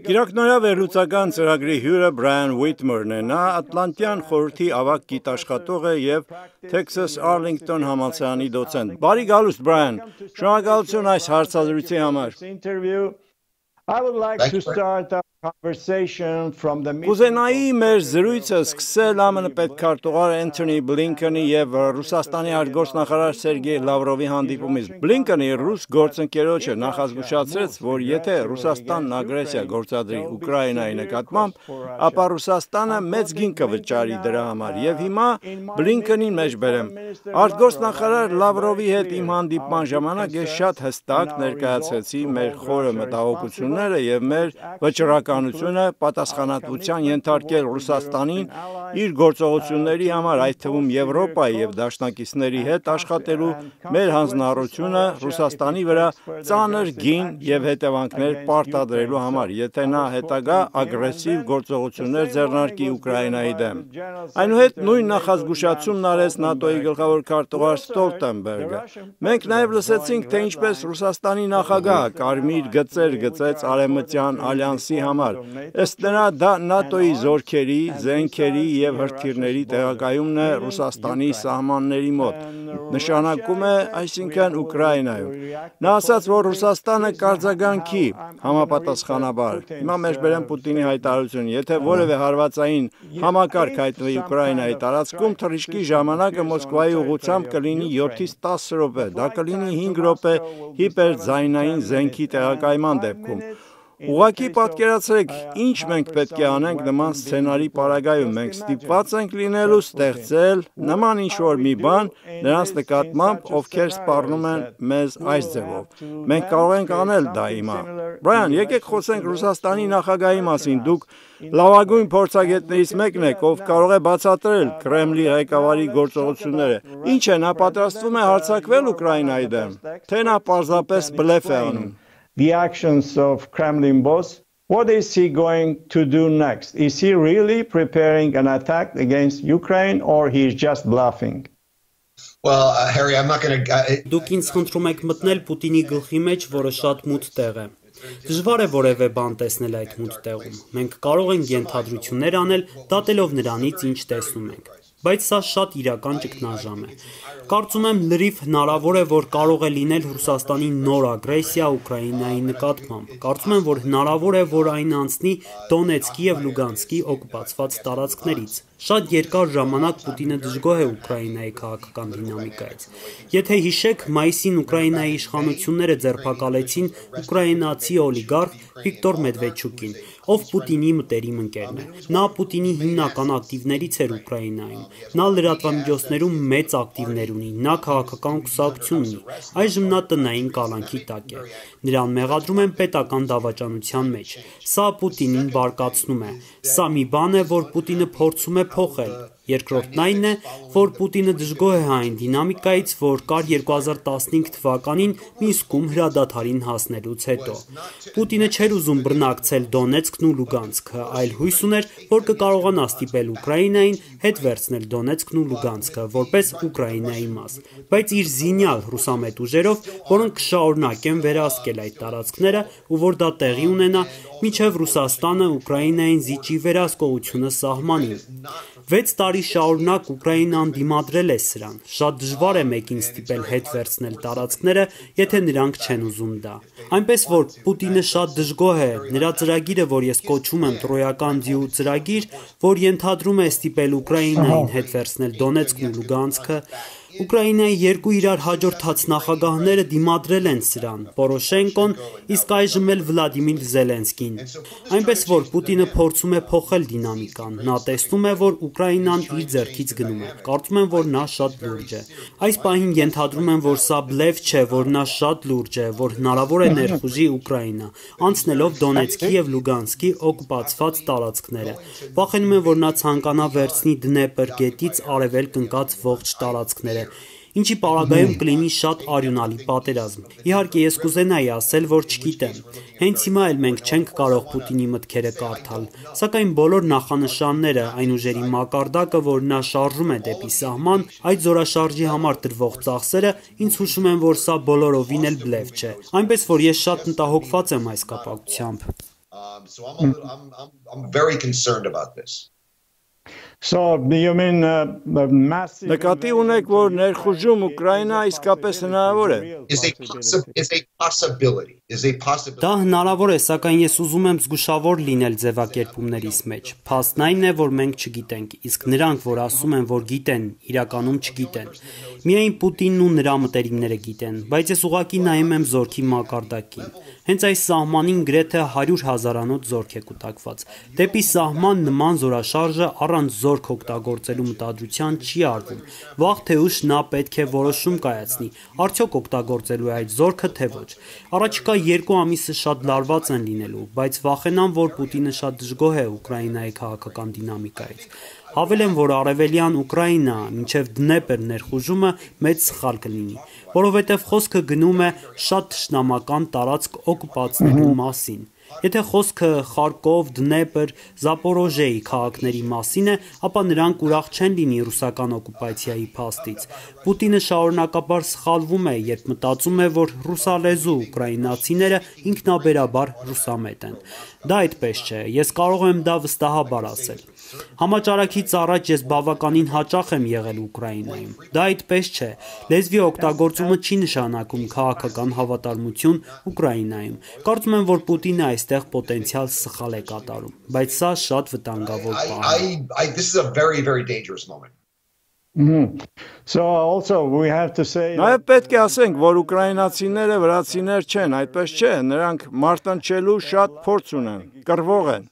Գիրակնորյա վերլուծական ծրագրի հյուրը Բրայան Ուիթմերն է, նա Ատլանտյան խորհրդի ավագ գիտաշխատող է և Թեքսաս Արլինգտոն համալսարանի դոցենտ։ Բարի գալուստ, Բրայան, շնորհակալություն այս հարցազրույցի համար։ Կուզենայի մեր զրույցը սկսել ԱՄՆ պետքարտուղար Էնթոնի Բլինքենի և Ռուսաստանի արտգործնախարար Սերգեյ Լավրովի հանդիպումից։ Բլինքենի ռուս գործընկերոջը նախազգուշացրեց, որ եթե Ռուսաստանն ագրեսիա գործադրի Ուկրաինայի նկատմամբ, ապա Ռուսաստանը մեծ գին կվճարի դրա համար, և հիմա Բլինքենին մեջ բերեմ։ Արտգործնախարար Լավրովի հետ իմ հանդիպման ժամանակ ես շատ հստակ ներկայացրեցի մեր խորը մտահոգությունները և մեր վճռականությունը պատասխանատվության ենթարկել Ռուսաստանին իր գործողությունների համար, այդ թվում Եվրոպայի և դաշնակիցների հետ աշխատելու մեր հանձնառությունը Ռուսաստանի վրա ծանր գին և հետևանքներ պարտադրելու համար, եթե նա հետագա ագրեսիվ գործողություններ ձեռնարկի Ուկրաինայի դեմ։ Այնուհետ նույն նախազգուշացումն արեց ՆԱՏՕ-ի գլխավոր քարտուղար Ստոլտենբերգը։ Մենք նաև լսեցինք, թե ինչպես Ռուսաստանի նախագահը կարմիր գծեր գծեց Արևմտյան ալյանսի համար։ Ըստ նրա, դա ՆԱՏՕ-ի զորքերի, զենքերի և հրթիռների տեղակայումն է Ռուսաստանի սահմանների մոտ, նշանակում է, այսինքն Ուկրաինայում։ Նա ասաց, որ Ռուսաստանը կարձագանքի համապատասխանաբար։ Հիմա մեջբերեմ Պուտինի հայտարարությունը, եթե որևէ հարվածային համակարգ հայտնվի Ուկրաինայի տարածքում, թռիչքի ժամանակը Մոսկվայի ուղղությամբ կլինի 7-ից 10 րոպե, դա կլինի 5 րոպե հիպերձայնային զենքի տեղակայման դեպքում։ Ուղղակի պատկերացրեք, ինչ մենք պետք է անենք նման սցենարի պարագայում, մենք ստիպված ենք լինելու ստեղծել նման ինչ-որ մի բան նրանց նկատմամբ, ովքեր սպառնում են մեզ այս ձևով։ Մենք կարող ենք անել դա հիմա։ Բրայան, եկեք խոսենք Ռուսաստանի նախագահի մասին, դուք լավագույն փորձագետներից մեկն եք, ով կարող է բացատրել Կրեմլի ղեկավարի գործողությունները։ Ինչ է, նա պատրաստվում է հարձակվել Ուկրաինայի դեմ, թե նա պարզապես բլեֆ է անում։ The actions of Kremlin boss, what is he going to do next? Is he really preparing an attack against Ukraine or he is just bluffing? Well, Harry, I'm not going to... Դուք ինձ խնդրում եք մտնել Պուտինի գլխի մեջ, որը շատ մութ տեղ է։ Դժվար է որևէ բան տեսնել այդ մութ տեղում։ Մենք կարող ենք ենթադրություններ անել, դատելով նրանից, ինչ տեսնում ենք։ Բայց սա շատ իրական ճգնաժամ է։ Կարծում եմ լրիվ հնարավոր է, որ կարող է լինել Ռուսաստանի նոր ագրեսիա Ուկրաինայի նկատմամբ։ Կարծում եմ, որ հնարավոր է, որ այն անցնի Դոնեցկի և Լուգանսկի օկուպացված տարածքներից։ Շատ երկար ժամանակ Պուտինը դժգոհ է Ուկրաինայի քաղաքական դինամիկայից։ Եթե հիշեք, մայիսին Ուկրաինայի իշխանությունները ձերբակալեցին ուկրաինացի օլիգարխ Վիկտոր Մեդվեդչուկին, ով Պուտինի մտերիմ ընկերն է։ Նա Պուտինի հիմնական ակտիվներից էր Ուկրաինայում։ Նա լրատվամիջոցներում մեծ ակտիվներ ունի, նա քաղաքական կուսակցություն ունի։ Այժմ նա տնային կալանքի տակ է։ Նրան մեղադրում են պետական դավաճանության մեջ։ Սա Պուտինին բարկացնում է։ Սա մի բան է, որ Պուտինը փորձում է փոխել։ Երկրորդն այն է, որ Պուտինը դժգոհ է այն դինամիկայից, որ կար 2015 թվականին Մինսկում հրադադարին հասնելուց հետո։ Պուտինը չէր ուզում բռնակցել Դոնեցկն ու Լուգանսկը, այլ հույս ուներ, որ կկարողանա ստիպել Ուկրաինային հետ վերցնել Դոնեցկն ու Լուգանսկը, որպես Ուկրաինայի մաս, բայց իր զինյալ ռուսամետ ուժերով, որոնք կշարունակեն վերահսկել այդ տարածքները ու որ դա տեղի ունենա, մինչև Ռուսաստանը Ուկրաինային զիջի վերահսկողությունը սահմանին։ 6 տարի շարունակ Ուկրաինան դիմադրել է սրան։ Շատ դժվար է մեկին ստիպել հետ վերցնել տարածքները, եթե նրանք չեն ուզում դա։ Այնպես որ Պուտինը շատ դժգոհ է, նրա ծրագիրը, որ ես կոչում եմ Տրոյական ձիու ծրագիր, որ ենթադրում է ստիպել Ուկրաինային հետ վերցնել Դոնեցկն ու Լուգանսկը, Ուկրաինայի երկու իրար հաջորդած նախագահները դիմադրել են սրան, Պորոշենկոն, իսկ այժմ էլ Վլադիմիր Զելենսկին։ Այնպես որ Պուտինը փորձում է փոխել դինամիկան, նա տեսնում է, որ Ուկրաինան իր ձեռքից գնում է։ Կարծում եմ, որ նա շատ լուրջ է։ Այս պահին ենթադրում եմ, որ սա բլեֆ չէ, որ նա շատ լուրջ է, որ հնարավոր է ներխուժի Ուկրաինա, անցնելով Դոնեցկի և Լուգանսկի օկուպացված տարածքները։ Վախենում եմ, որ նա ցանկանա վերցնի Դնեպր գետից արևելք ընկած ողջ տարածքները, ինչի պարագայում կլինի շատ արյունալի պատերազմ։ Իհարկե ես կուզենայի ասել, որ չգիտեմ։ Հենց հիմա էլ մենք չենք կարող Պուտինի մտքերը կարդալ, սակայն բոլոր նախանշանները, այն ուժերի մակարդակը, որ նա շարժում է դեպի սահման, այդ զորաշարժի համար տրվող ծախսերը ինձ հուշում են, որ սա բոլորովին էլ բլեֆ չէ։ Այնպես որ ես շատ մտահոգված եմ այս կապակցությամբ։ So I'm very concerned about this. So you mean massive Նկատի ունեք, որ ներխուժում Ուկրաինա իսկապես հնարավոր է։ Is a possibility. Դա հնարավոր է, սակայն ես ուզում եմ զգուշավոր լինել ձևակերպումներիս մեջ։ Փաստն այն է, որ մենք չգիտենք, իսկ նրանք, որ ասում են, որ գիտեն, իրականում չգիտեն։ Միայն Պուտինն ու նրա մտերիմները գիտեն, բայց ես ուղղակի նայում եմ զորքի մակարդակին։ Հենց այս սահմանին գրեթե 100,000-անոց զորք է կուտակված։ Դեպի սահման նման զորաշարժը առանց զորք օգտագործելու մտադրության չի արվում։ Վաղ թե ուշ նա պետք է որոշում կայացնի, արդյոք օգտագործելու է այդ զորքը թե ոչ։ Առաջիկա 2 ամիսը շատ լարված են լինելու, բայց վախենամ, որ Պուտինը շատ դժգոհ է Ուկրաինայի քաղաքական դինամիկայից։ Հավելեմ, որ արևելյան Ուկրաինա մինչև Դնեպր ներխուժումը մեծ սխալ կլինի, որովհետև խոսքը գնում է շատ թշնամական տարածք օկուպացնելու մասին։ Եթե խոսքը Խարկով, Դնեպր, Զապորոժեի քաղաքների մասին է, ապա նրանք ուրախ չեն լինի ռուսական օկուպացիայի փաստից։ Պուտինը շարունակաբար սխալվում է, երբ մտածում է, որ ռուսալեզու ուկրաինացիները ինքնաբերաբար ռուսամետ են։ Դա այդպես չէ, ես կարող եմ դա վստահաբար ասել։ Համաճարակից առաջ ես բավականին հաճախ եմ եղել Ուկրաինայում։ Դա այդպես չէ։ Լեզվի օգտագործումը չի նշանակում քաղաքական հավատարմություն Ուկրաինայում։ Կարծում եմ, որ Պուտինը այստեղ պոտենցիալ սխալ է կատարում, բայց սա շատ վտանգավոր բան է։ This is a very, very dangerous moment. So also we have to say Նաև պետք է ասենք, որ ուկրաինացիները վրացիներ չեն, այդպես չէ, նրանք մարտնչելու շատ փորձ ունեն, կռվող են։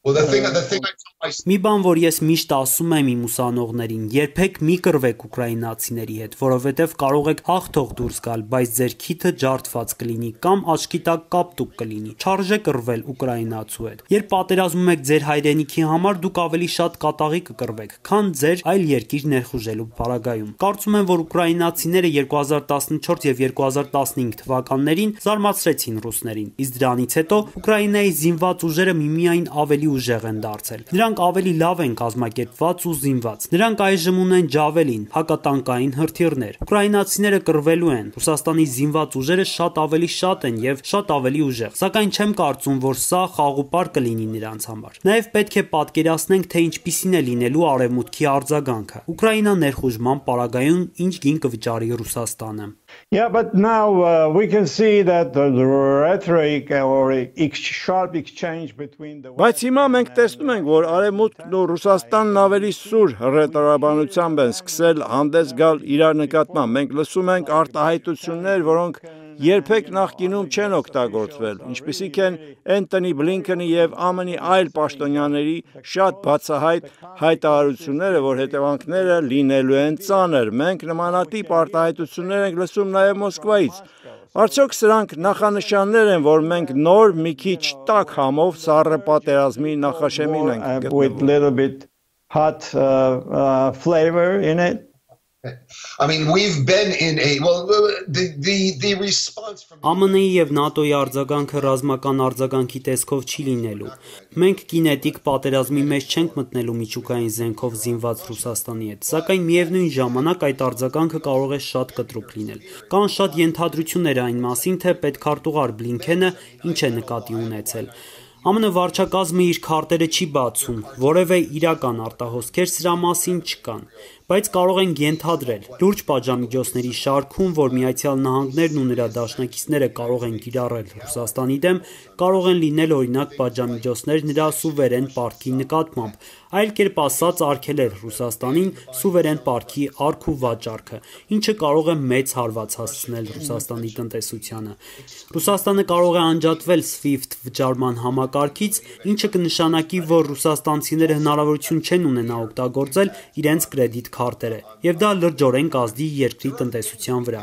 Well, the thing I tell my Մի բան, որ ես միշտ ասում եմ իմ ուսանողներին, երբեք մի կռվեք ուկրաինացիների հետ, որովհետև կարող եք հաղթող դուրս գալ, բայց ձեր քիթը ջարդված կլինի կամ աչքի տակ կապտուկ կլինի։ Չարժե կռվել ուկրաինացու հետ։ Երբ պատերազմում եք ձեր հայրենիքի համար, դուք ավելի շատ կատաղի կկռվեք, քան ձեր այլ երկիր ներխուժելու պարագայում։ Կարծում եմ, որ ուկրաինացիները 2014 եւ 2015 թվականներին զարմացրեցին ռուսներին, իսկ դրանից հետո Ուկրաինայի զինված ուժերը միմիայն ավելի ուժեղ են դարձել։ Նրանք ավելի լավ են կազմակերպված ու զինված։ Նրանք այժմ ունեն ջավելին, հակատանկային հրթիռներ։ Ուկրաինացիները կռվելու են։ Ռուսաստանի զինված ուժերը շատ են եւ շատ ավելի ուժեղ։ Սակայն չեմ կարծում, որ սա խաղուպար կլինի նրանց համար։ Նաեւ պետք է պատկերացնենք, թե ինչպիսին է լինելու արևմուտքի արձագանքը։ Ուկրաինա ներխուժման պարագայում ինչ գին կվճարի Ռուսաստանը։ Yeah, but now we can see that the rhetoric or sharp exchange between the Բայց հիմա մենք տեսնում ենք, որ Արևմուտքն ու Ռուսաստանն ավելի սուր հռետորաբանությամբ են սկսել հանդես գալ իրար նկատմամբ։ Մենք լսում ենք արտահայտություններ, որոնք երբեք նախկինում չեն օգտագործվել, ինչպիսիք են Էնթոնի Բլինքենի եւ ԱՄՆ-ի այլ պաշտոնյաների շատ բացահայտ հայտարարությունները, որ հետևանքները լինելու են ծանր։ Մենք նմանատիպ արտահայտություններ ենք լսում նաեւ Մոսկվայից։ Արդյոք սրանք նախանշաններ են, որ մենք նոր մի քիչ տաք համով սառը պատերազմի նախաշեմին ենք with little bit hot flavor in it? I mean, we've been in the response from ԱՄՆ-ի եւ ՆԱՏՕ-ի արձագանքը ռազմական արձագանքի տեսքով չի լինելու։ Մենք կինետիկ պատերազմի մեջ չենք մտնելու միջուկային զենքով զինված Ռուսաստանի հետ, սակայն միևնույն ժամանակ այդ արձագանքը կարող է շատ կտրուկ լինել։ Կան շատ ենթադրություններ այն մասին, թե պետքարտուղար Բլինքենը ինչ է նկատի ունեցել։ ԱՄՆ վարչակազմը իր քարտերը չի բացում, որևէ իրական արտահոսքեր սրա մասին չկան, բայց կարող են ենթադրել։ Լուրջ պատժամիջոցների շարքում, որ Միացյալ Նահանգներն ու նրա դաշնակիցները կարող են կիրառել Ռուսաստանի դեմ, կարող են լինել օրինակ պատժամիջոցներ նրա սուվերեն պարտքի նկատմամբ, այլ կերպ ասած արգելել Ռուսաստանին սուվերեն պարտքի արք ու վաճառքը, ինչը կարող է մեծ հարված հասցնել Ռուսաստանի տնտեսությանը։ Ռուսաստանը կարող է անջատվել SWIFT վճարման համակարգից, ինչը կնշանակի, որ ռուսաստանցիները հնարավորություն չեն ունենա օգտագործել իրենց կրեդիտ քարտերը, եւ դա լրջորեն կազդի երկրի տնտեսության վրա։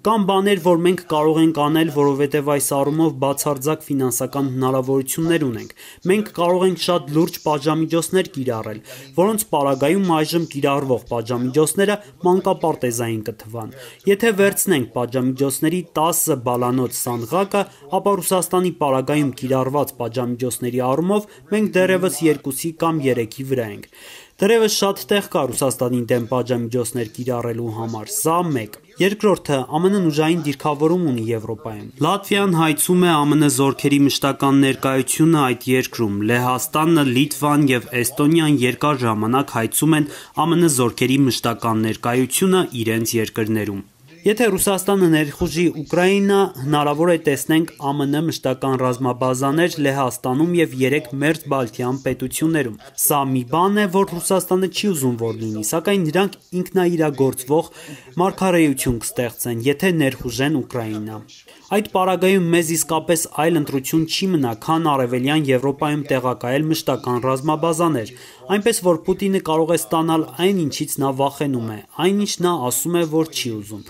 Կան բաներ, որ մենք կարող ենք անել, որովհետեւ այս առումով բացարձակ ֆինանսական հնարավորություններ ունենք։ Մենք կարող ենք շատ լուրջ պատժամիջոցներ կիրառել, որոնց պարագայում այժմ կիրառվող պատժամիջոցները մանկապարտեզային կթվան։ Եթե վերցնենք պատժամիջոցների 10 բալանոց սանդղակը, ապա Ռուսաստանի պարագայում կիրառված պատժամիջոցների առումով մենք դեռևս 2-ի կամ 3-ի վրա ենք։ Դեռևս շատ տեղ կա Ռուսաստանի դեմ պատժամիջոցներ կիրառելու համար, սա մեկ։ Երկրորդը, ԱՄՆ-ն ուժային դիրքավորում ունի Եվրոպայում։ Լատվիան հայցում է ԱՄՆ զորքերի մշտական ներկայությունը այդ երկրում։ Լեհաստանը, Լիտվան եւ Էստոնիան երկար ժամանակ հայցում են ԱՄՆ զորքերի մշտական ներկայությունը իրենց երկրներում։ Եթե Ռուսաստանը ներխուժի Ուկրաինա, հնարավոր է տեսնենք ԱՄՆ մշտական ռազմաբազաներ Լեհաստանում եւ 3 մերձբալթյան պետություններում։ Սա մի բան է, որ Ռուսաստանը չի ուզում որ լինի, սակայն նրանք ինքնաիրագործվող մարգարեություն կստեղծեն, եթե ներխուժեն Ուկրաինա։ Այդ պարագայում մեզ իսկապես այլ ընտրություն չի մնա, քան Արևելյան Եվրոպայում տեղակայել մշտական ռազմաբազաներ, այնպես որ Պուտինը կարող է ստանալ այն, ինչից նա վախենում է, այն, ինչ նա ասում է, որ չի ուզում։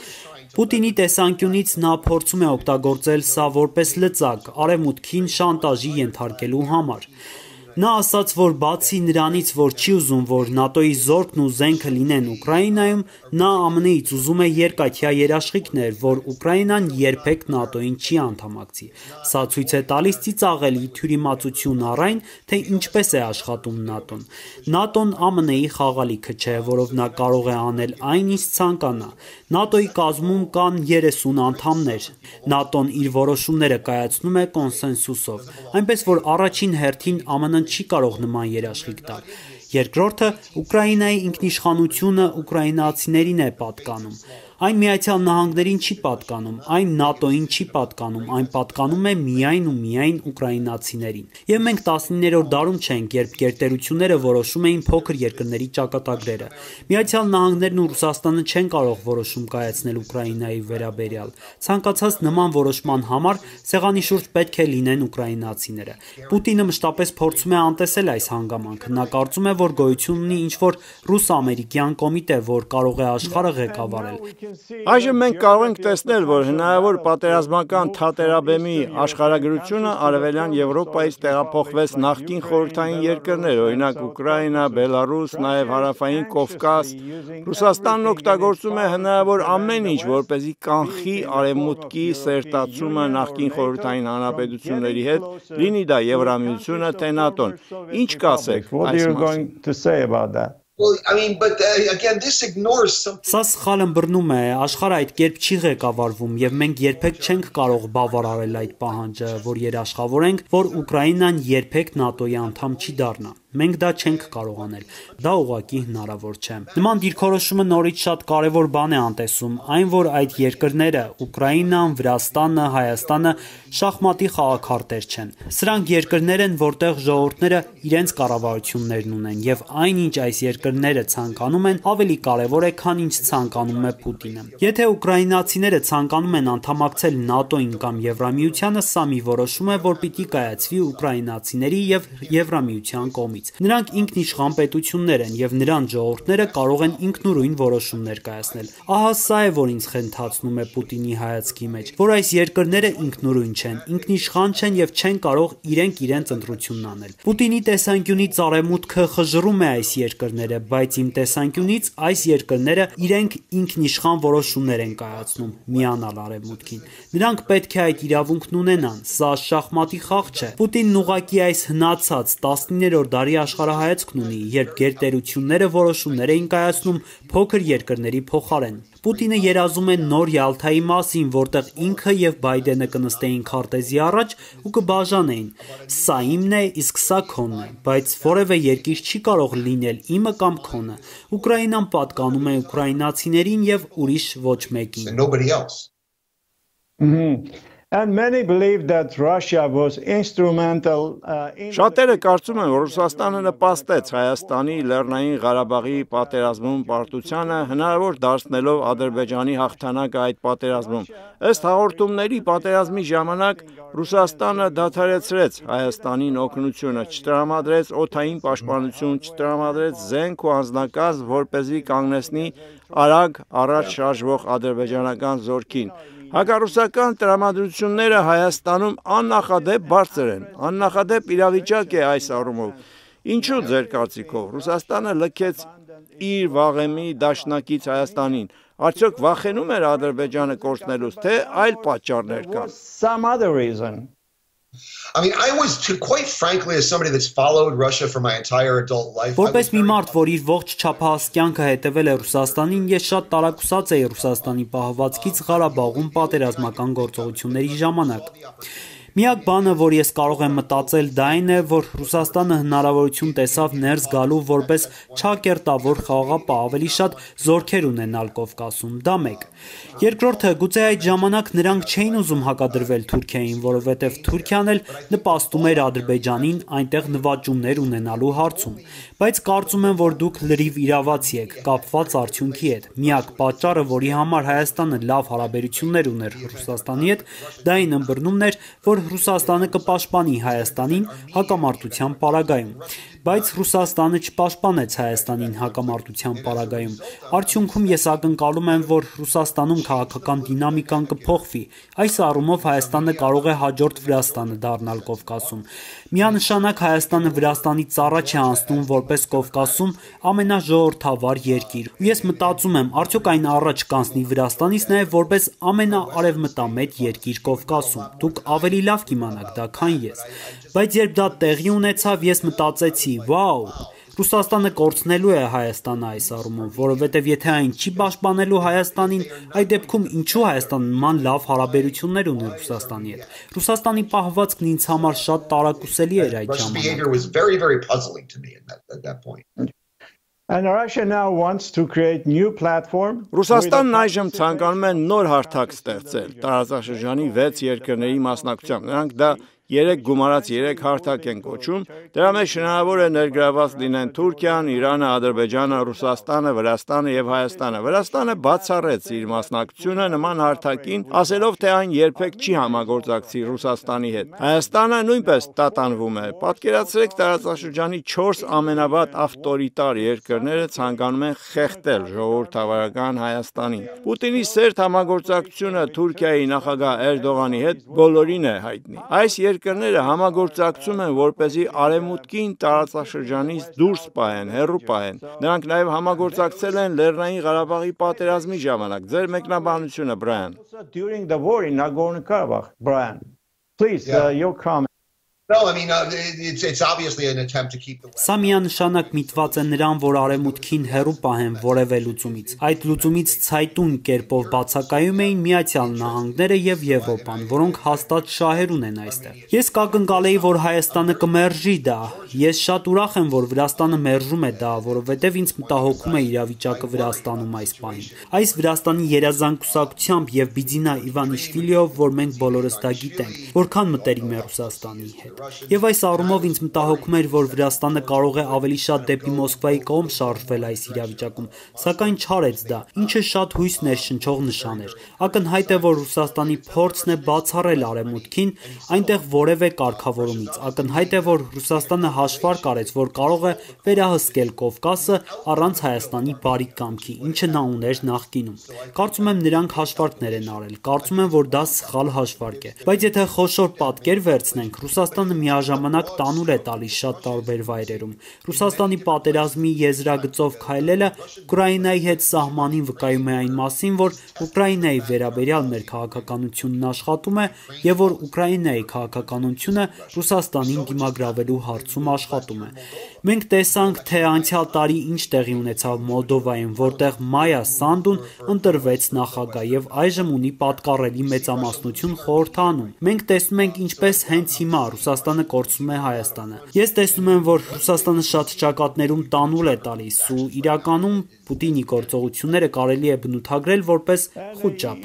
Պուտինի տեսանկյունից նա փորձում է օգտագործել սա որպես լծակ, արևմուտքին շանտաժի ենթարկելու համար։ Նա ասաց, որ բացի նրանից, որ չի ուզում, որ ՆԱՏՕ-ի զորքն ու զենքը լինեն Ուկրաինայում, նա ԱՄՆ-ից ուզում է երկաթյա երաշխիքներ, որ Ուկրաինան երբեք ՆԱՏՕ-ին չի անդամակցի։ Սա ցույց է տալիս ծիծաղելի թյուրիմացություն առ այն, թե ինչպես է աշխատում ՆԱՏՕ-ն։ ՆԱՏՕ-ն ԱՄՆ-ի խաղալիքը չէ, որով նա կարող է անել այն, ինչ ցանկանա։ ՆԱՏՕ-ի կազմում կան 30 անդամներ։ ՆԱՏՕ-ն իր որոշումները կայացնում է կոնսենսուսով, այնպես որ առաջին հերթին ԱՄՆ-ն չի կարող նման երաշխիք տալ։ Երկրորդը, Ուկրաինայի ինքնիշխանությունը ուկրաինացիներին է պատկանում։ Այն Միացյալ Նահանգներին չի պատկանում, այն ՆԱՏՕ-ին չի պատկանում, այն պատկանում է միայն ու միայն ուկրաինացիներին։ Եվ մենք 19-րդ դարում չենք, երբ գերտերությունները որոշում էին փոքր երկրների ճակատագրերը։ Միացյալ Նահանգներն ու Ռուսաստանը չեն կարող որոշում կայացնել Ուկրաինայի վերաբերյալ։ Ցանկացած նման որոշման համար սեղանի շուրջ պետք է լինեն ուկրաինացիները։ Պուտինը մշտապես փորձում է անտեսել այս հանգամանքը։ Նա կարծում է, որ գոյություն ունի ինչ-որ ռուս-ամերիկյան կոմիտե, որ կարող է աշխարհը ղեկավարել։ Այժմ մենք կարող ենք տեսնել, որ հնարավոր պատերազմական թատերաբեմի աշխարհագրությունը Արևելյան Եվրոպայից տեղափոխվեց նախկին խորհրդային երկրներ, օրինակ Ուկրաինա, Բելարուս, նաև Հարավային Կովկաս։ Ռուսաստանն օգտագործում է հնարավոր ամեն ինչ, որպեսզի կանխի արևմուտքի սերտացումը նախկին խորհրդային հանրապետությունների հետ, լինի դա Եվրամիությունը, թե ՆԱՏՕ-ն։ Ինչ կասեք այս մասին։ Well, I mean, but again, this ignores some. Սա սխալ ըմբռնում է, աշխարհը այդ կերպ չի ղեկավարվում եւ մենք երբեք չենք կարող բավարարել այդ պահանջը, որ երաշխավորենք, որ Ուկրաինան երբեք ՆԱՏՕ-ի անդամ չի դառնա։ Մենք դա չենք կարող անել։ Դա ուղղակի հնարավոր չէ։ Նման դիրքորոշումը նորից շատ կարևոր բան է անտեսում, այն որ այդ երկրները՝ Ուկրաինան, Վրաստանը, Հայաստանը շախմատի խաղաքարտեր չեն։ Սրանք երկրներ են, որտեղ ժողովուրդները իրենց կառավարություններն ունեն եւ այնինչ այս երկրները ցանկանում են, ավելի կարևոր է, քան ինչ ցանկանում է Պուտինը։ Եթե ուկրաինացիները ցանկանում են անդամակցել ՆԱՏՕ-ին կամ Եվրամիությանը, սա մի որոշում է, որ պիտի կայացվի ուկրաինացիների եւ Եվրամիության կողմից։ Նրանք ինքնիշխան պետություններ են եւ նրանց ժողովուրդները կարող են ինքնուրույն որոշումներ կայացնել։ Ահա սա է, որ ինձ խնդացնում է Պուտինի հայացքի մեջ, որ այս երկրները ինքնուրույն չեն, ինքնիշխան չեն եւ չեն կարող իրենց ընտրությունն անել։ Պուտինի տեսանկյունից արևմուտքը խժռում է այս երկրները, բայց իմ տեսանկյունից այս երկրները իրենք ինքնիշխան որոշումներ են կայացնում, միանալ արևմուտքին։ Նրանք պետք է այդ իրավունքն ունենան, սա շախմատի խաղ չէ։ Պուտինն ուղղակի այս հնացած 19-րդ դարի աշխարհայացքն ունի, երբ գերտերությունները որոշումներ էին կայացնում փոքր երկրների փոխարեն։ Պուտինը երազում է նոր Յալթայի մասին, որտեղ ինքը եւ Բայդենը կնստեին քարտեզի առաջ ու կբաժանեին։ Սա իմն է, իսկ սա քոնն է, բայց որևէ երկիր չի կարող լինել իմը կամ քոնը։ Ուկրաինան պատկանում է ուկրաինացիներին եւ ուրիշ ոչ մեկին։ And many believe that Russia was instrumental in Շատերը կարծում են, որ Ռուսաստանը նպաստեց Հայաստանի Լեռնային Ղարաբաղի պատերազմում պարտությանը, հնարավոր դարձնելով Ադրբեջանի հաղթանակը այդ պատերազմում։ Ըստ հաղորդումների, պատերազմի ժամանակ Ռուսաստանը դադարեցրեց Հայաստանին օգնությունը, չտրամադրեց օդային պաշտպանություն, չտրամադրեց զենք ու անձնակազմ, որպեսզի կանգնեցնի արագ առաջ շարժվող ադրբեջանական զորքին։ Հակառուսական տրամադրությունները Հայաստանում աննախադեպ բարձր են, աննախադեպ իրավիճակ է այս առումով։ Ինչու ձեր կարծիքով Ռուսաստանը լքեց իր վաղեմի դաշնակից Հայաստանին, արդյոք վախենում էր Ադրբեջանը կորցնելուց, թե այլ պատճառներ կան։ some other reason. I mean, I was, quite frankly, as somebody that's followed Russia for my entire adult life. Որպես մի մարդ, որ իր ողջ չափահաս կյանքը հետևել է Ռուսաստանին, ես շատ տարակուսած էի Ռուսաստանի պահվածքից Ղարաբաղում պատերազմական գործողությունների ժամանակ։ Միակ բանը, որ ես կարող եմ մտածել, դա այն է, որ Ռուսաստանը հնարավորություն տեսավ ներս գալու որպես չակերտավոր խաղաղապահ, ավելի շատ զորքեր ունենալ Կովկասում, դա մեկ։ Երկրորդը, գուցե այդ ժամանակ նրանք չէին ուզում հակադրվել Թուրքիային, որովհետև Թուրքիան էլ նպաստում էր Ադրբեջանին այնտեղ նվաճումներ ունենալու հարցում։ Բայց կարծում եմ, որ դուք լրիվ իրավացի եք կապված արդյունքի հետ։ Միակ պատճառը, որի համար Հայաստանը լավ հարաբերություններ ուներ Ռուսաստանի հետ, դա այն ըմբռնումն էր, որ Ռուսաստանը կպաշտպանի Հայաստանին հակամարտության պարագայում, բայց Ռուսաստանը չպաշտպանեց Հայաստանին հակամարտության պարագայում։ Արդյունքում ես ակնկալում եմ, որ Ռուսաստանում քաղաքական դինամիկան կփոխվի։ Այս առումով Հայաստանը կարող է հաջորդ Վրաստանը դառնալ Կովկասում։ Միանշանակ Հայաստանը Վրաստանից առաջ է անցնում որպես Կովկասում ամենաժողովրդավար երկիր։ Ու ես մտածում եմ, արդյոք այն առաջ կանցնի Վրաստանից նաև որպես ամենաարևմտամետ երկիր Կովկասում։ Դուք ավելի լավ կիմանաք դա, քան ես։ Բայց երբ դա տեղի ունեցավ, ես մտածեցի, վաու, Ռուսաստանը կորցնելու է Հայաստանը այս առումով, որովհետև եթե այն չի պաշտպանելու Հայաստանին, այդ դեպքում ինչու Հայաստանը նման լավ հարաբերություններ ունի Ռուսաստանի հետ։ Ռուսաստանի պահվածքն ինձ համար շատ տարակուսելի էր այդ Russia's ժամանակ։ behavior was very, very puzzling to me at that point. And Russia now wants to create new platform. Ռուսաստանն այժմ ցանկանում է նոր հարթակ ստեղծել տարածաշրջանի 6 երկրների մասնակցությամբ։ Նրանք դա 3 գումարած 3 հարթակ են կոչում, դրա մեջ հնարավոր է ներգրաված լինեն Թուրքիան, Իրանը, Ադրբեջանը, Ռուսաստանը, Վրաստանը եւ Հայաստանը։ Վրաստանը բացառեց իր մասնակցությունը նման հարթակին, ասելով, թե այն երբեք չի համագործակցի Ռուսաստանի հետ։ Հայաստանը նույնպես տատանվում է։ Պատկերացրեք, տարածաշրջանի 4 ամենավատ ավտորիտար երկրները ցանկանում են խեղդել ժողովրդավարական Հայաստանին։ Պուտինի սերտ համագործակցությունը Թուրքիայի նախագահ Էրդողանի հետ բոլորին է հայտնի։ Այս երկրները համագործակցում են, որպեսզի արևմուտքին տարածաշրջանից դուրս պահեն, հեռու պահեն։ Նրանք նաև համագործակցել են Լեռնային Ղարաբաղի պատերազմի ժամանակ։ Ձեր մեկնաբանությունը, Brian։ During the war in Nagorno-Karabakh, Brian, please, your comment. No, I mean, it's obviously an attempt to keep the West. Սա միանշանակ միտված է նրան, որ արևմուտքին հեռու պահեն որևէ լուծումից։ Այդ լուծումից ցայտուն կերպով բացակայում էին Միացյալ Նահանգները եւ Եվրոպան, որոնք հաստատ շահեր ունեն այստեղ։ Ես կակնկալեի, որ Հայաստանը կմերժի դա։ Ես շատ ուրախ եմ, որ Վրաստանը մերժում է դա, որովհետեւ ինձ մտահոգում է իրավիճակը Վրաստանում այս պահին։ Այս Վրաստանի երազանքուսակությամբ եւ Բիձինա Իվանիշվիլիով, որ մենք բոլորս դա գիտենք, որքան մտերիմ է Ռուսաստանի հետ։ Եվ այս առումով ինձ մտահոգում էր, որ Վրաստանը կարող է ավելի շատ դեպի Մոսկվայի կողմ շարժվել այս իրավիճակում, սակայն չարեց դա, ինչը շատ հույս ներշնչող նշան էր։ Ակնհայտ է, որ Ռուսաստանի փորձն է բացառել արևմուտքին այնտեղ որևէ կարգավորումից։ Ակնհայտ է, որ Ռուսաստանը հաշվարկ արեց, որ կարող է վերահսկել Կովկասը առանց Հայաստանի բարի կամքի, ինչը նա ուներ նախկինում։ Կարծում եմ նրանք հաշվարկներ են արել։ Կարծում եմ, որ դա սխալ հաշվարկ է։ Բայց եթե խոշոր պատկեր վերցնենք, Ռուսաստանը միաժամանակ տանուլ է տալիս շատ տարբեր վայրերում։ Ռուսաստանի պատերազմի եզրագծով քայլելը Ուկրաինայի հետ սահմանին վկայում է այն մասին, որ Ուկրաինայի վերաբերյալ մեր քաղաքականությունն աշխատում է եւ որ Ուկրաինայի քաղաքականությունը Ռուսաստանին դիմագրավելու հարցում աշխատում է։ Մենք տեսանք, թե անցյալ տարի ինչ տեղի ունեցավ Մոլդովայում, որտեղ Մայա Սանդուն ընտրվեց նախագահ եւ այժմ ունի պատկառելի մեծամասնություն խորհրդանում։ Մենք տեսնում ենք ինչպես հենց հիմա Ռուսաստանը կորցնում է Հայաստանը։ Ես տեսնում եմ, որ Ռուսաստանը շատ ճակատներում տանուլ է տալիս ու իրականում Պուտինի գործողությունները կարելի է բնութագրել որպես խուճապ։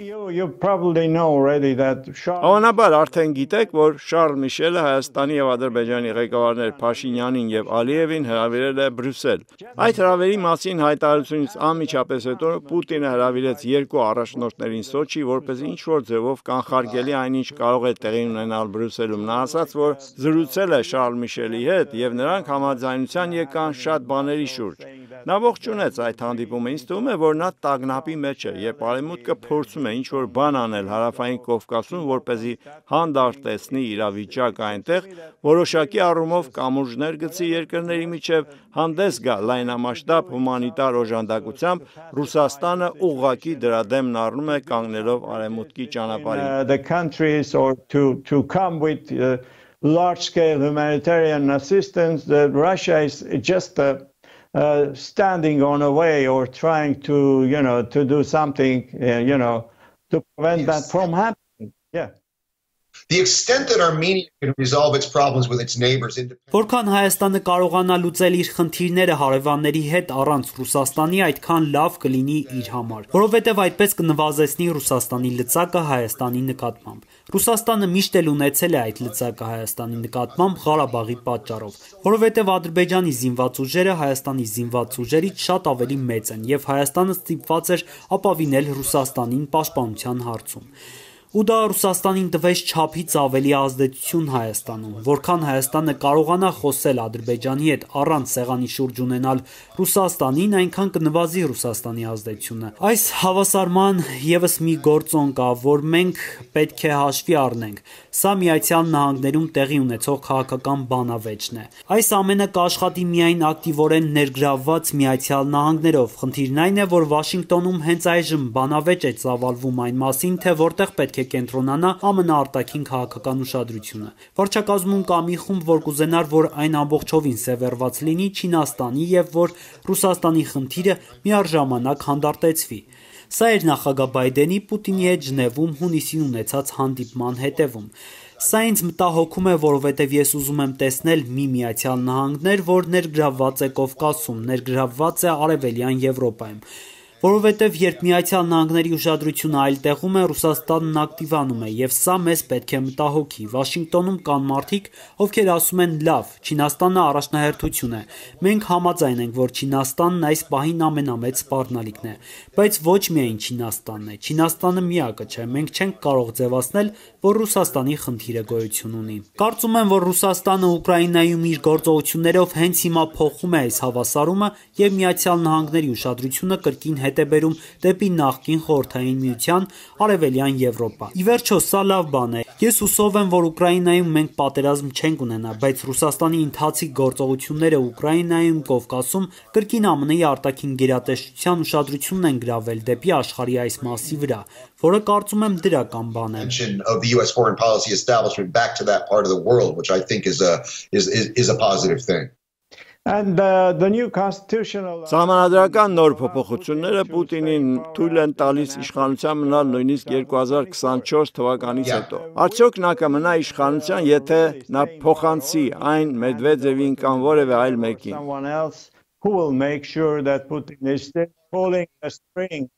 Հավանաբար արդեն գիտեք, որ Շարլ Միշելը Հայաստանի եւ Ադրբեջանի ղեկավարներ Փաշինյանին եւ Ալիևին հրավիրել է Բրյուսել։ Այդ հրավերի մասին հայտարարությունից անմիջապես հետո Պուտինը հրավիրեց երկու առաջնորդներին Սոչի, որպեսզի ինչ-որ ձևով կանխարգելի այնինչ կարող է տեղի ունենալ Բրյուսելում։ Նա ասաց, որ զրուցել է Շարլ Միշելի հետ եւ նրանք համաձայնության եկան շատ բաների շուրջ։ Նա ողջունեց այդ հանդիպումը, ինձ թվում է, որ նա տագնապի մեջ է եւ Արևմուտքը փորձում է ինչ-որ բան անել Հարավային Կովկասում, որպեսզի հանդարտեցնի իրավիճակը այնտեղ, որոշակի առումով կամուրջներ գցի երկրների միջև, հանդես գա լայնամասշտաբ հումանիտար օժանդակությամբ, Ռուսաստանը ուղղակի դրա դեմն առնում է կանգնելով Արևմուտքի ճանապարհին. large-scale humanitarian assistance, that Russia is just standing on a way or trying to, to do something, to prevent that from happening. Yeah. The extent that Armenia can resolve its problems with its neighbors Որքան Հայաստանը կարողանա լուծել իր խնդիրները հարևանների հետ առանց Ռուսաստանի, այդքան լավ կլինի իր համար, որովհետև այդպես կնվազեցնի Ռուսաստանի լծակը Հայաստանի նկատմամբ։ Ռուսաստանը միշտ էլ ունեցել է այդ լծակը Հայաստանի նկատմամբ Ղարաբաղի պատճառով, որովհետև Ադրբեջանի զինված ուժերը Հայաստանի զինված ուժերից շատ ավելի մեծ են եւ Հայաստանը ստիպված էր ապավինել Ռուսաստանին պաշտպանության հարցում։ Ու դա Ռուսաստանին տվեց չափից ավելի ազդեցություն Հայաստանում, որքան Հայաստանը կարողանա խոսել Ադրբեջանի հետ առանց սեղանի շուրջ ունենալ Ռուսաստանին, այնքան կնվազի Ռուսաստանի ազդեցությունը։ Այս հավասարման եւս մի գործոն կա, որ մենք պետք է հաշվի առնենք։ Սա Միացյալ Նահանգներում տեղի ունեցող քաղաքական բանավեճն է։ Այս ամենը կաշխատի միայն ակտիվորեն ներգրավված Միացյալ Նահանգներով։ Խնդիրն այն է, որ Վաշինգտոնում հենց այժմ բանավեճ է ծավալվում այն մասին, թե որտեղ պետք է կենտրոնանա ԱՄՆ արտաքին քաղաքական ուշադրությունը։ Վարչակազմում կա մի խումբ, որ կուզենար, որ այն ամբողջովին սևեռված լինի Չինաստանի եւ որ Ռուսաստանի խնդիրը միառժամանակ հանդարտեցվի։ Սա էր նախագահ Բայդենի Պուտինի հետ Ժնևում հունիսին ունեցած հանդիպման հետևում։ Սա ինձ մտահոգում է, որովհետև ես ուզում եմ տեսնել մի Միացյալ Նահանգներ, որ ներգրավված է Կովկասում, ներգրավված է Արևելյան Եվրոպայում։ Որովհետև երբ Միացյալ Նահանգների ուշադրությունը այլ տեղում է, Ռուսաստանն ակտիվանում է, եւ սա մեզ պետք է մտահոգի։ Վաշինգտոնում կան մարդիկ, ովքեր ասում են՝ լավ, Չինաստանը առաջնահերթություն է։ Մենք համաձայն ենք, որ Չինաստանն այս պահին ամենամեծ սպառնալիքն է, բայց ոչ միայն Չինաստանն է։ Չինաստանը միակը չէ։ Մենք չենք կարող ձևացնել, որ Ռուսաստանի խնդիրը գոյություն ունի։ Կարծում եմ, որ Ռուսաստանը Ուկրաինայում իր գործողություններով հենց հիմա փոխում է այս հավասարումը եւ Միացյալ Նահանգների ուշադրությունը կրկին հետ է բերում դեպի նախկին Խորհրդային Միության, Արևելյան Եվրոպա։ Ի վերջո, սա լավ բան է։ Ես հուսով եմ, որ Ուկրաինայում մենք պատերազմ չենք ունենա, բայց Ռուսաստանի ընթացիկ գործողությունները Ուկրաինայում, Կովկասում կրկին ԱՄՆ-ի արտաքին գերատեսչության ուշադրությունն են գրավել դեպի աշխարհի այս մասի վրա, որը կարծում եմ դրական բան է։ Of the US foreign policy establishment back to that part of the world, which I think is a positive thing. And the new constitutional Սահմանադրական նոր փոփոխությունները Պուտինին թույլ են տալիս իշխանության մնալ նույնիսկ 2024 թվականից հետո։ Արդյոք նա կմնա իշխանության, եթե նա փոխանցի այն Մեդվեդևին կամ որևէ այլ մեկին։ someone else who will make sure that Putin is still pulling the string?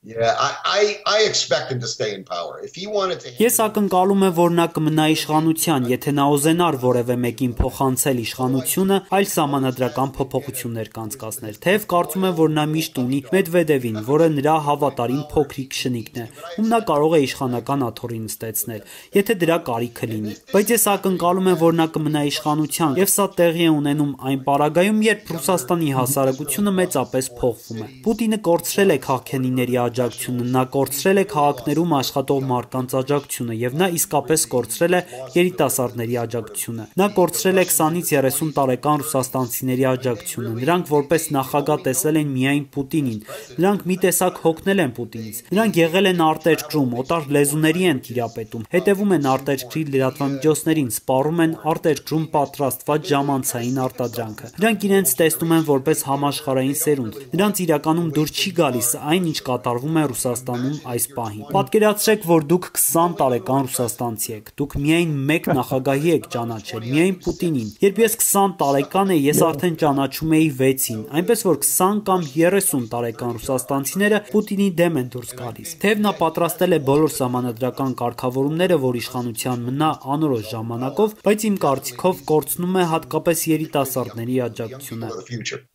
Yeah, I expect him to stay in power. If he wanted to Ես ակնկալում եմ, որ նա կմնա իշխանության, եթե նա ուզենար որևէ մեկին փոխանցել իշխանությունը, այլ սահմանադրական փոփոխություններ կանցկացնել։ Թեև կարծում եմ, որ նա միշտ ունի Մեդվեդևին, որը նրա հավատարիմ փոքրիկ շնիկն է, ում նա կարող է իշխանական աթոռի նստեցնել, եթե դրա կարիքը լինի։ Բայց ես ակնկալում եմ, որ նա կմնա իշխանության, եւ սա տեղի է ունենում այն պարագայում, երբ Ռուսաստանի հասարակությունը մեծապես փոխվում է։ Պուտինը կորցրել է քաղաքենիների աջակցությունը, նա կորցրել է քաղաքներում աշխատող մարդկանց աջակցությունը եւ նա իսկապես կորցրել է երիտասարդների աջակցությունը։ Նա կորցրել է 20-ից 30 տարեկան ռուսաստանցիների աջակցությունը։ Նրանք որպես նախագահ տեսել են միայն Պուտինին։ Նրանք մի տեսակ հոգնել են Պուտինից։ Նրանք եղել են արտերկրում, օտար լեզուների են տիրապետում, հետևում են արտերկրի լրատվամիջոցներին, սպառում են արտերկրում պատրաստված ժամանցային արտադրանքը։ Նրանք իրենց տեսնում են որպես համաշխարհային սերունդ։ Նրանց իրականում դուր չի գալիս այն, ինչ կատարում կատարվում է Ռուսաստանում այս պահին։ Պատկերացրեք, որ դուք 20 տարեկան ռուսաստանցի եք, դուք միայն մեկ նախագահի եք ճանաչել, միայն Պուտինին։ Երբ ես 20 տարեկան էի, ես արդեն ճանաչում էի 6-ին, այնպես որ 20 կամ 30 տարեկան ռուսաստանցիները Պուտինի դեմ են դուրս գալիս։ Թեև նա պատրաստել է բոլոր սահմանադրական կարգավորումները, որ իշխանության մնա անորոշ ժամանակով, բայց իմ կարծիքով կորցնում է հատկապես երիտասարդների աջակցությունը։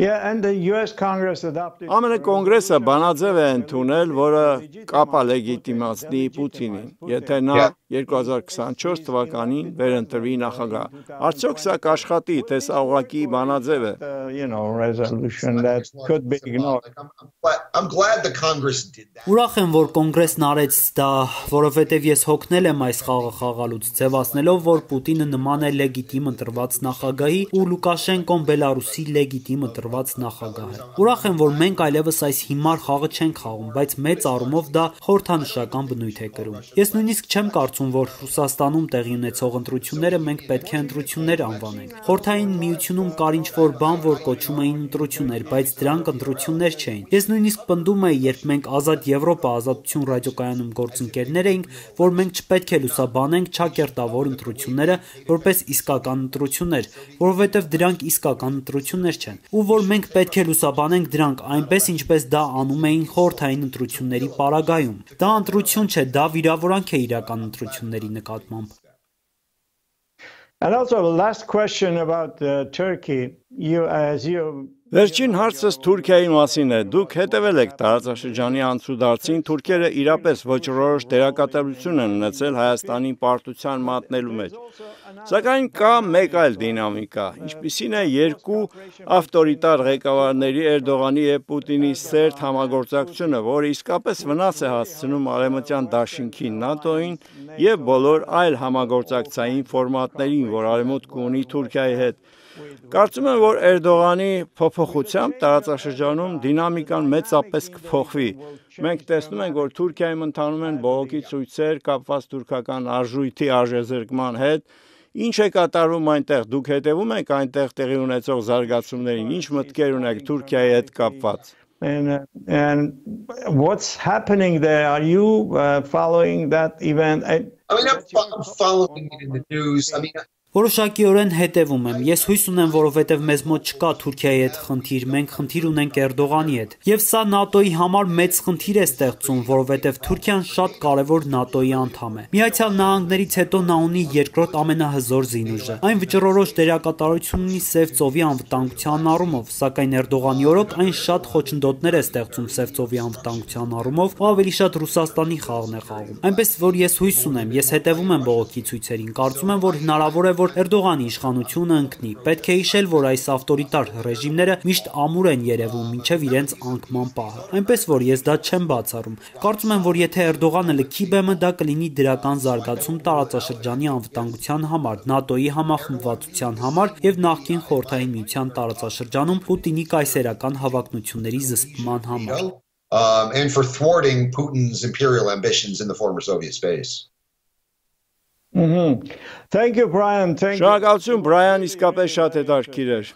ԱՄՆ կոնգրեսը բանաձև է ընդունել, որը կապա լեգիտիմացնի Պուտինին, եթե նա 2024 թվականին վերընտրվի նախագահ։ Արդյոք սա կաշխատի, թե սա ուղղակի բանաձև է։ Ուրախ եմ, որ կոնգրեսն արեց դա, որովհետև ես հոգնել եմ այս խաղը խաղալուց, ձևացնելով, որ Պուտինը նման է լեգիտիմ ընտրված նախագահի ու Լուկաշենկոն Բելարուսի լեգիտիմ ընտրված նախագահ է։ Ուրախ եմ, որ մենք այլևս այս հիմար խաղը չենք խաղում, բայց մեծ առումով դա խորհրդանշական բնույթ է կրում։ Ես նույնիսկ չեմ կարծում, որ Ռուսաստանում տեղի ունեցող ընտրությունները մենք պետք է ընտրություններ անվանենք։ Խորհրդային միությունում կար ինչ-որ բան, որ կոչում էին ընտրություններ, բայց դրանք ընտրություններ չէին։ Ես նույնիսկ պնդում էի, երբ մենք Ազատ Եվրոպա ազատություն ռադիոկայանում գործընկերներ էինք, որ մենք չպետք է լուսաբանենք չակերտավոր ընտրությունները որպես իսկական ընտրություններ, որովհետև դրանք իսկական ընտրություններ չեն, ու որ մենք պետք է լուսաբանենք դրանք այնպես, ինչպես դա անում էին խորհրդային ընտրությունների պարագայում։ Դա ընտրություն չէ, դա վիրավորանք է իրական ընտրությունների նկատմամբ։ And also the last question about Turkey, Վերջին հարցս Թուրքիայի մասին է։ Դուք հետևել եք տարածաշրջանի անցուդարձին, թուրքերը իրապես ոչռորոշ դերակատարություն են ունեցել Հայաստանի պարտության մատնելու մեջ։ Սակայն կա մեկ այլ դինամիկա, ինչպիսին է երկու ավտորիտար ղեկավարների Էրդողանի և Պուտինի սերտ համագործակցությունը, որը իսկապես վնաս է հասցնում Արևմտյան դաշինքին, ՆԱՏՕ-ին և բոլոր այլ համագործակցային ֆորմատներին, որ Արևմուտքը ունի Թուրքիայի հետ։ Կարծում եմ, որ Էրդողանի փոփոխությամբ տարածաշրջանում դինամիկան մեծապես կփոխվի։ Մենք տեսնում ենք, որ Թուրքիայում ընթանում են բողոքի ցույցեր կապված թուրքական արժույթի արժեզրկման հետ։ Ինչ է կատարվում այնտեղ, դուք հետևում եք այնտեղ տեղի ունեցող զարգացումներին, ինչ մտքեր ունեք Թուրքիայի հետ կապված։ And what's happening there? Are you following that event? I'm following it in the news. Որոշակիորեն հետևում եմ։ Ես հույս ունեմ, որովհետև մեզ մոտ չկա Թուրքիայի հետ խնդիր, մենք խնդիր ունենք Էրդողանի հետ։ Եվ սա ՆԱՏՕ-ի համար մեծ խնդիր է ստեղծում, որովհետև Թուրքիան շատ կարևոր ՆԱՏՕ-ի անդամ է։ Միացյալ Նահանգներից հետո նա ունի երկրորդ ամենահզոր զինուժը։ Այն վճռորոշ դերակատարություն ունի Սև ծովի անվտանգության առումով, սակայն Էրդողանի օրոք այն շատ խոչընդոտներ է ստեղծում Սև ծովի անվտանգության առումով, ու ավելի շատ Ռուսաստանի խաղն է խաղում։ Այնպես որ ես հույս ունեմ, ես հետևում եմ բողոքի ցույցերին, կարծում եմ, որ հնարավոր է, որ Էրդողանի իշխանությունը ընկնի։ Պետք է հիշել, որ այս ավտորիտար ռեժիմները միշտ ամուր են երևում մինչև իրենց անկման պահը։ Այնպես որ ես դա չեմ բացառում։ Կարծում եմ, որ եթե Էրդողանը լքի բեմը, դա կլինի դրական զարգացում տարածաշրջանի անվտանգության համար, ՆԱՏՕ-ի համախմբվածության համար եւ նախկին Խորհրդային Միության տարածաշրջանում Պուտինի կայսերական հավակնությունների զսպման համար։ And for thwarting Putin's imperial ambitions in the former Soviet space. Thank you, Brian. Շնորհակալություն, Brian, իսկապես շատ հետաքրքիր էր։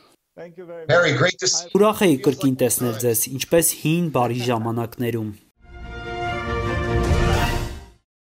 Very great to see. Ուրախ էի կրկին տեսնել ձեզ, ինչպես հին բարի ժամանակներում։